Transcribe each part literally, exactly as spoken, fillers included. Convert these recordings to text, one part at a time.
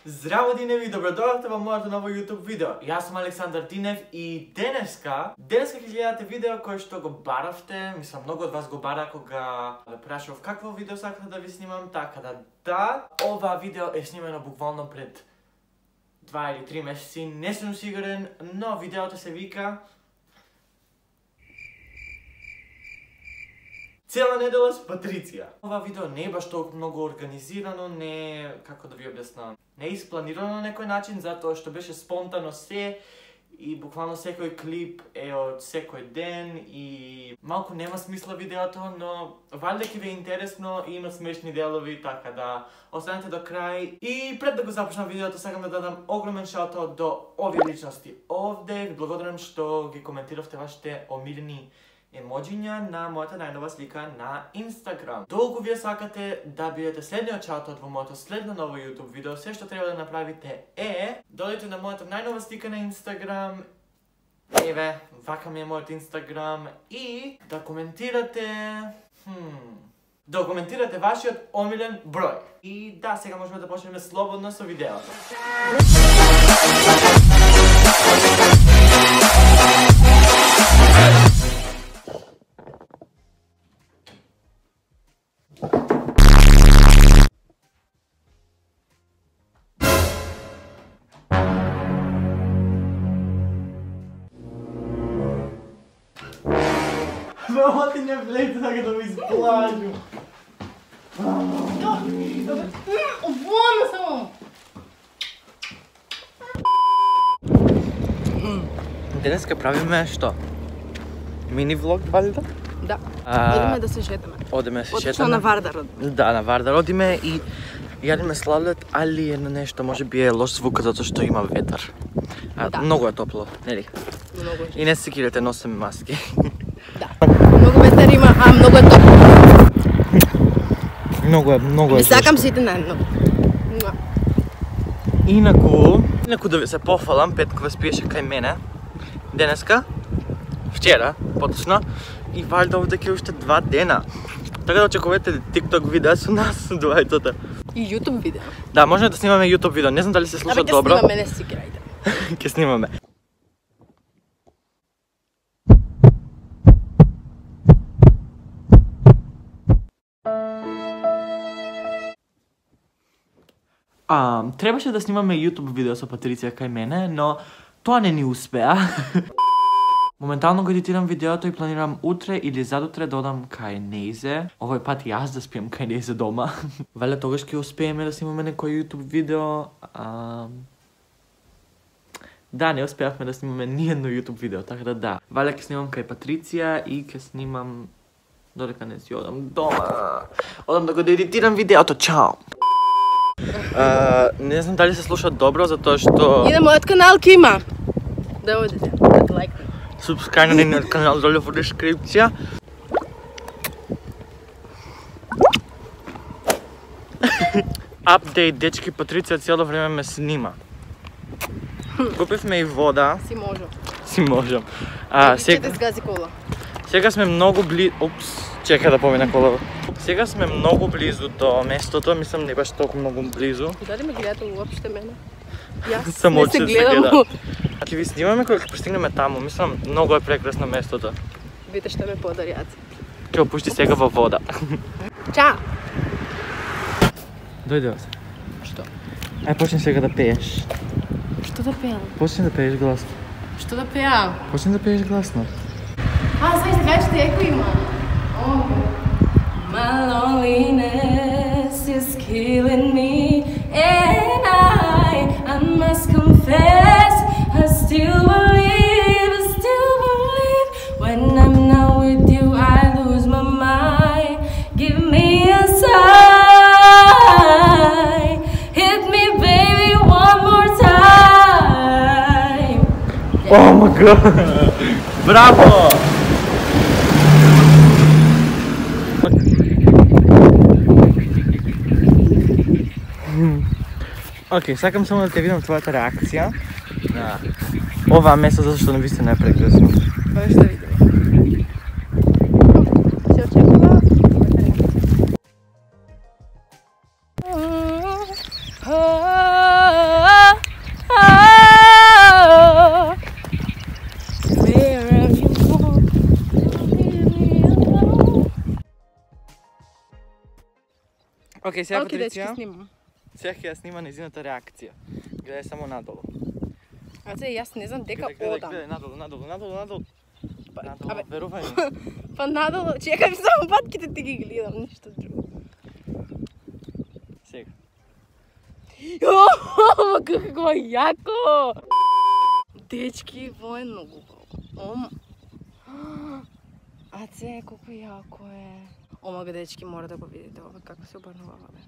Здраво Диневи, добродојавте во моето ново YouTube видео. Јас сум Александар Динев и денеска, денеска ќе гледате видео кое што го баравте, мислам многу од вас го бара кога ве прашав какво видео сакате да ви снимам, така да да, ова видео е снимено буквално пред два или три месеци, не сум сигурен, но видеото се вика Цела недела с Патриција. Ова видео не е баш толку многу организирано, не е, како да ви објаснам, не е испланирано на некој начин, затоа што беше спонтано се и буквално секој клип е од секој ден и малку нема смисла видеото, но валјда ќе ви е интересно и има смешни делови, така да останете до крај. И пред да го започнам видеото, сакам да дадам огромен шаут-аут до овие личности овде. Ви благодарам што ги коментиравте вашите омилени емоджиња на мојата најнова слика на Инстаграм. Долго вие сакате да бидете следниот шаут-аут во моето следно ново YouTube видео, се што треба да направите е додете на мојата најнова слика на Инстаграм. Еве, вака ми е мојот Инстаграм и да коментирате, хм, да коментирате вашиот омилен број. И да, сега можеме да почнеме слободно со видеото. Мама, ти не влезе така да ми изплажу. Обвона само! Денеска правиме што? Мини влог, валјда? Да, А, идеме да се шетаме. Одиме да се Отишла шетаме. на Вардар. Да, на Вардар одиме и јадиме сладолед, али едно нешто може би е лош звук затоа што има ветар. А, Да. Многу е топло, нели? Многу е. И не се кирете, носиме маски. Да. Многу ветар има, а многу е топло. Многу е, многу е. Ми сакам жешко. сите наедно. Инаку, инаку да ви се пофалам, Петко ве спиеше кај мене. Денеска, вчера, поточно, и валјда овде ќе уште два дена. Така да очекувате TikTok видеа со нас, двајцата. И YouTube видео. Да, може да снимаме YouTube видео, не знам дали се слуша Абе, ќе добро. снимаме, не си крајде. Ќе снимаме. А, требаше да снимаме YouTube видео со Патриција кај мене, но тоа не ни успеа. Моментално го едитирам видеото и планирам утре или задутре да одам кај Нејзе. Овој пат јас да спием кај Нејзе дома. Вале тогаш ќе успееме да снимаме некој YouTube видео. А... Да, не успеавме да снимаме ни едно YouTube видео, така да да. Вале ќе снимам кај Патриција и ќе снимам додека не си одам дома. Одам да го едитирам видеото. Чао! Uh, не знам дали се слуша добро, затоа што... И на мојот канал ќе има. Да одите, да лайкнете. Субскрајб на нейниот канал доле во дескрипција. Апдейт, дечки, Патриција цело време ме снима. Купивме и вода. Си можам. Си можам. А, Сега... сега, Ќе сгази кола. сега сме многу близу... Упс, чека да помина колава. Сега сме многу близу до местото, мислам не баш толку многу близу. Дали ме гледате уопште мене? Јас Само не че се се гледам. гледа. Ќе ви снимаме кога ќе пристигнеме таму, мислам многу е прекрасно местото. Видите што ме подарјат. Ќе опушти сега во вода. Чао! Дојде се. Што? Ај почни сега да пееш. Што да пеам? Почни да пееш гласно. Што да пеам? Почни да пееш гласно. А, знаеш да кажеш еко има. My loneliness is killing me, and I, I must confess, I still believe, I still believe. When I'm not with you, I lose my mind. Give me a sign, hit me, baby, one more time. Oh my god! Браво! Океј, сакам само да те видам твојата реакција на оваа место, затоа што навистина е прекрасно. Па што видиме. Се очекува. Oh, Океј, сега Океј, дечки, Патриција. снимам. Сега ќе ја снима незината реакција. Гледај само надолу. А се, јас не знам дека Гледај, гледај, одам. гледај, надолу, надолу, надолу, надолу. Надолу, абе. верувај ми. Па надолу, чекам само патките ти ги гледам, ништо друго. Сега. Ова како јако! Дечки, во е многу убаво. Ом. А це колку јако е. Омага, дечки, мора да го видите ова како се обрнува бе.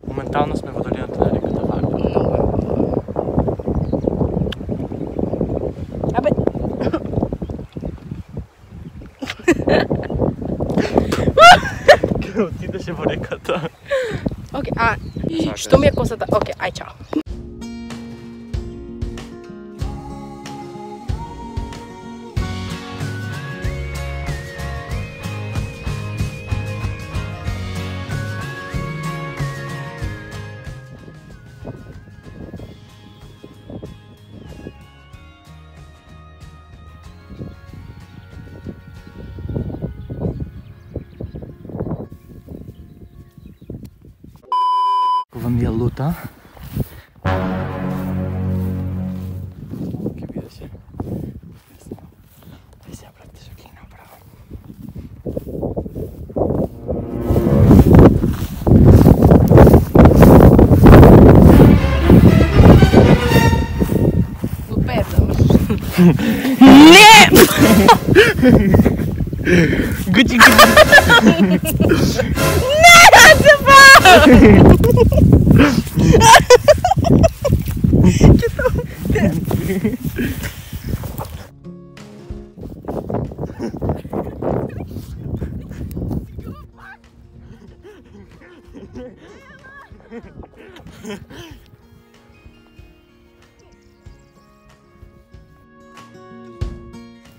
Моментално сме во долината на реката Варна. Многу е убаво. Абе, Ке отидеше во реката. окей, а што ми е косата? Окей, ај чао. Ова ми е лута. Ке видеше. Ај сега брате, што ќе направам. Лупетам. Гучи, гучи.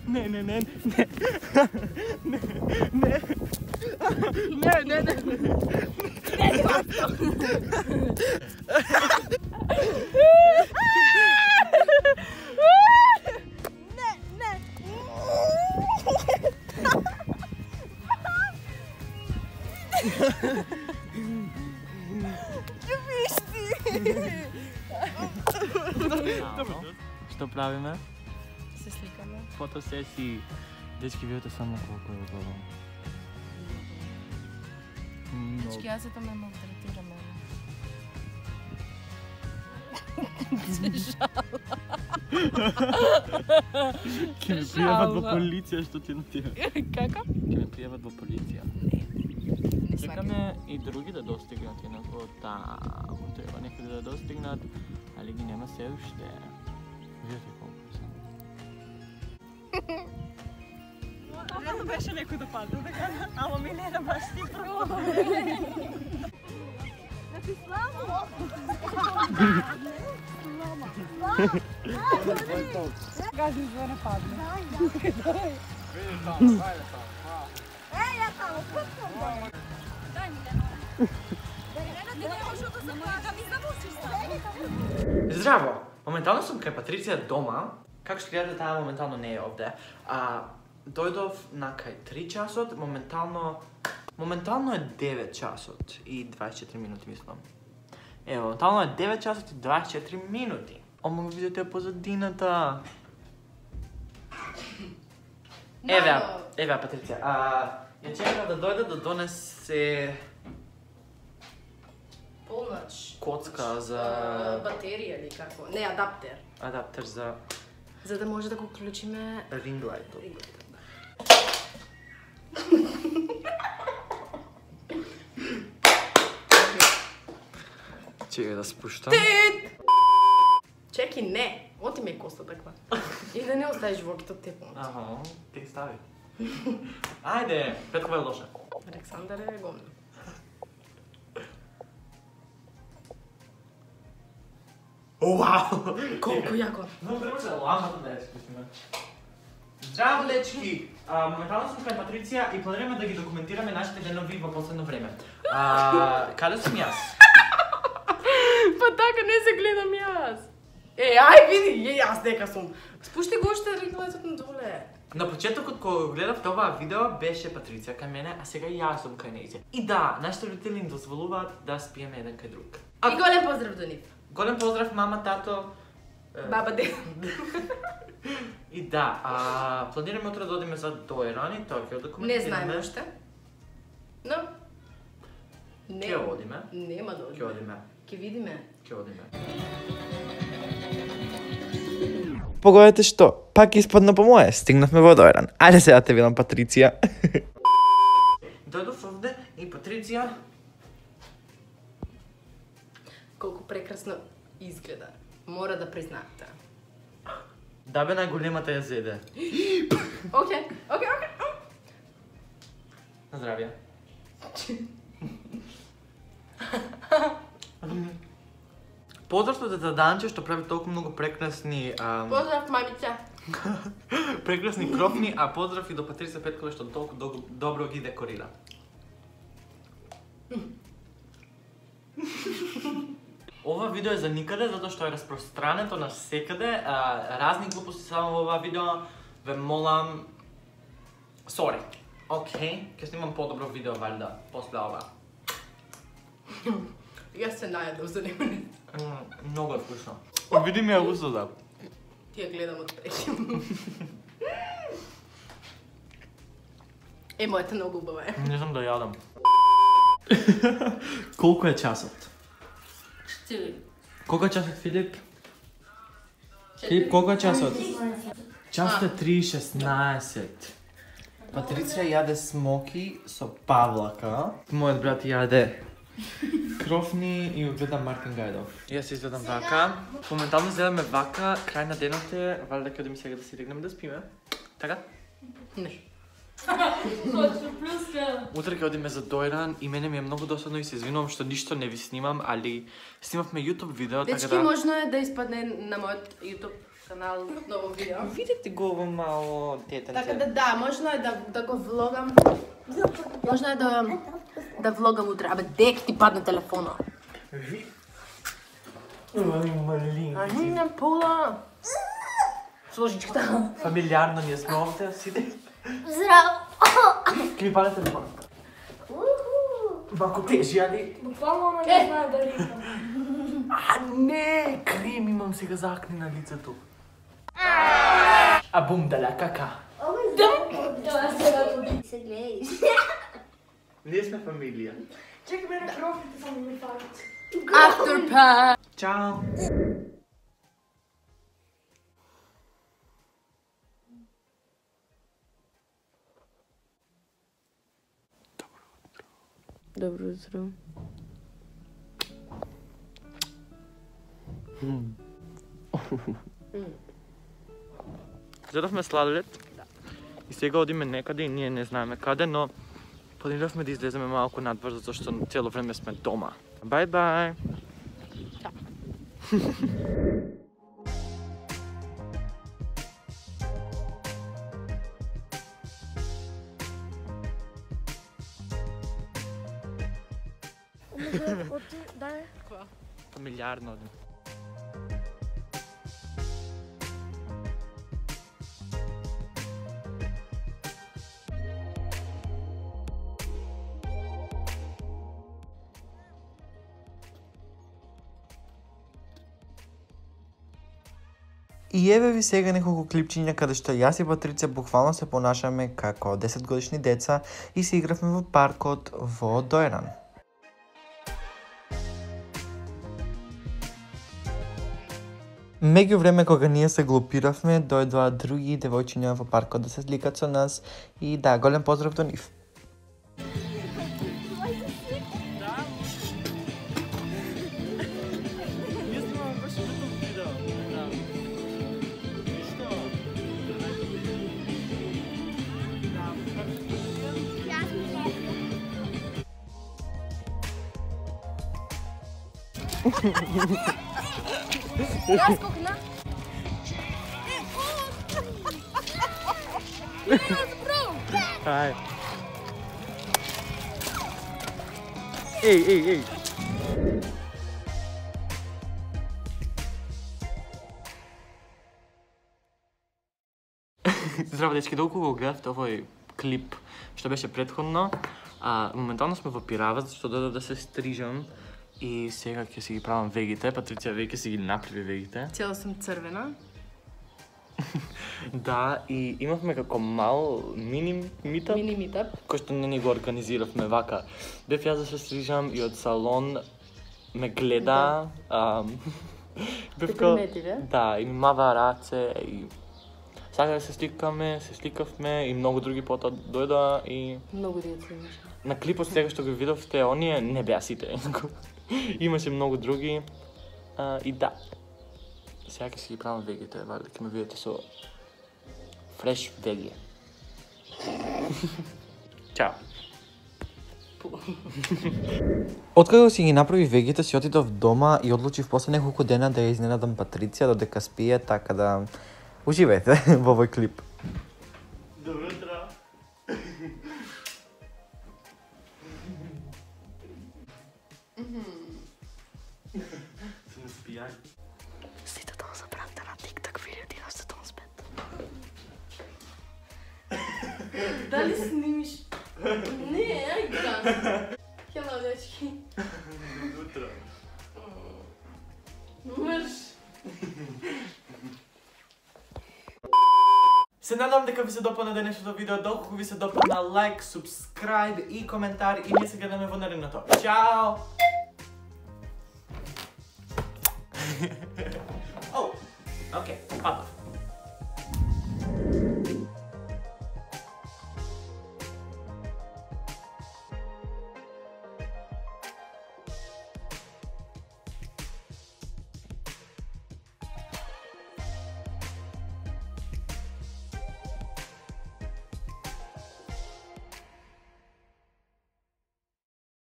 Не, не, не, не. Не, не. Не, не, не. Што правиме? Се сликаме. Фотосесии. Дечки, видите само колку е убаво. Дечки, јас ето ме малтретираме. Ке ме пријават во полиција, што ти на тие. Како? Ке ме пријават во полиција. Не Чекаме и други да достигнат инако таму треба некои да достигнат, али ги нема се уште. Видите колку се. Верно беше некој да падне, така, ама Милена баш ти прво. Значи, славо! Гази за не падне. Еј, ја таму, путкам го! Дај ми Лено. Лено, ти не можеш да се плака, ми замусиш само. Здраво! Моментално сум кај Патриција дома. Како што гледате, таа моментално не е овде. А, дојдов на кај три часот, моментално... Моментално е девет часот и дваесет и четири минути, мислам. Ево, моментално е девет часот и дваесет и четири минути. Ома го видите позадината. Еве, еве Патриција. А, ја чекам да дојде да донесе Полноч. коцка за Батерија или како? Не, адаптер. адаптер за За да може да го уклучиме ринг лајтот. Чекај да спуштам. Чеки, не! Оти ме коста таква. И да не оставиш вокито тепо. Аха, ти стави. Ајде, Петкова е лоша. Александар е гомна. Вау! Колку јако. Но треба да ламата да ја спуштиме. Здраво, дечки! А, моментално сум кај Патриција и планираме да ги документираме нашите денови во последно време. А, каде сум јас? Па така не се гледам јас. Е, ај види, е, јас дека сум. Спушти го уште реглетот на доле. На почетокот кога гледав това видео беше Патриција кај мене, а сега јас сум кај нејзе. И да, нашите родители им дозволуваат да спиеме еден кај друг. И голем поздрав до нив. Голем поздрав мама, тато. Баба, дед. И да, а, планираме утре да одиме за Дојран и тоа ќе документираме. Не знаеме уште. Но не. Ќе одиме. Нема да Ќе одиме. Ќе видиме. Ќе одиме. Погодете што, пак испадна по моje, стигнавме во Дојран. Ајде сега те видам, Патриција. Дојдов овде и Патриција. Колку прекрасно изгледа. Мора да признаете. Да бе, најголемата ја зеде. Океј, океј, океј. На здравје. Поздрав до тета Данче што прави толку многу прекрасни ам... Поздрав, мајмица. прекрасни крофни, а поздрав и до Патриција Петкова што толку до... добро ги декорира. Ова видео е за никаде, затоа што е распространето на секаде. А, разни глупости само во ова видео. Ве молам... Сори. Океј, ќе снимам подобро видео, валјда, после ова. Јас се најадов за него. Многу е вкусно. Види ми ја усода. Ти ја гледам од преки. Е, мојата многу убава е. Не знам да јадам. Колку е часот? Четири. Колку е часот, Филип? Филип, колку е часот? Часот е три и шеснаесет. Патриција јаде смоки со павлака. Мојот брат јаде крофни и гледа Мартин Гајдов. Јас изгледам вака. Моментално изгледаме вака, крај на денот е, валјда ќе одиме сега да си легнеме да спиме. Така? Не. Утре ќе одиме за Дојран и мене ми е многу досадно и се извинувам што ништо не ви снимам, али снимавме YouTube видео, така Дечки, да... можно е да испадне на мојот YouTube канал ново видео. Видите го во мало детенце. Така да да, можно е да, да го влогам. Можно е да да влогам утре. Абе, дек ти падна телефона. Малин. А не на пола. Сложичката. Фамилиарно ние сме овде, сиде. Здраво! Ки пале телефон. Вако тежи, али? Буквално ама не знае да рикам. А не, крем имам сега за акне на лицето. А бум даля, кака. Това сега туди. Се гледаш. Ние сме фамилија. Чекай ме на крофите само ми фарат. Afterpad. Чао. Добро утро. Зедовме сладолед. И сега одиме некаде и ние не знаеме каде, но планиравме да излеземе малку надвор, затоа што цело време сме дома. Бај бај. Дај. Фамилиарно одим. И еве ви сега неколку клипчиња каде што јас и Патриција буквално се понашаме како десет годишни деца и се игравме во паркот во Дојран. Меѓу време кога ние се глупиравме, дојдоа други девојчиња во паркот да се сликат со нас и да, голем поздрав до нив. Јас кокна. Ај. Еј, еј, еј. Здраво, дечки, доколку го гледавте овој клип што беше претходно, а, моментално сме во Пирава, зашто додав да се стрижам и сега ќе си ги правам вегите. Патриција веќе си ги направи вегите. Цела сум црвена. Да, и имавме како мал мини митап, Мини митап. кој што не ни го организиравме вака. Бев јас да се стрижам и од салон ме гледа. Да. Бев ка... Да, и ми мава раце и сака да се сликаме, се сликавме и многу други потоа дојдоа и Многу деца имаше. на клипот сега што го видовте, оние не беа сите. Имаше многу други. А, и да. Сега ќе си ги правам вегите, вали ќе ме видите со фреш веги. Чао. Откако си ги направи вегите, си отидов дома и одлучив после неколку дена да ја изненадам Патриција додека спие, така да уживајте во овој клип. Добро утро. Сум спијан. Сите тоа забравте на TikTok видео ти да се тоа спет. Дали снимиш? Не, ај гран. Хело, дечки. Добро утро. Мрш. Се надам дека ви се допадна денешното видео. Доколку ви се допадна, лайк, субскрайб и коментар и ние се гледаме во наредното. Чао! О, окей, падав.